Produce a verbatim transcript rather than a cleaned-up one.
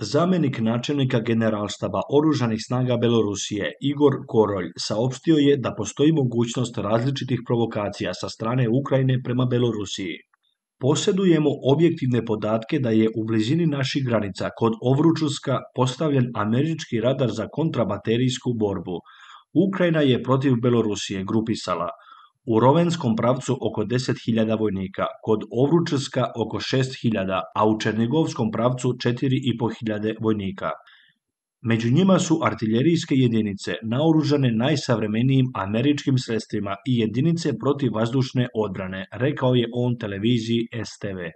Zamjenik načelnika Generalštaba oružanih snaga Belorusije Igor Korolj saopštio je da postoji mogućnost različitih provokacija sa strane Ukrajine prema Belorusiji. Posjedujemo objektivne podatke da je u blizini naših granica kod Ovručuska postavljen američki radar za kontrabaterijsku borbu. Ukrajina je protiv Belorusije grupisala u Rovenskom pravcu oko deset hiljada vojnika, kod Ovručska oko šest hiljada, a u Černigovskom pravcu četiri i po hiljade vojnika. Među njima su artiljerijske jedinice naoružane najsavremenijim američkim sredstvima i jedinice protivvazdušne odbrane, rekao je on televiziji S T V.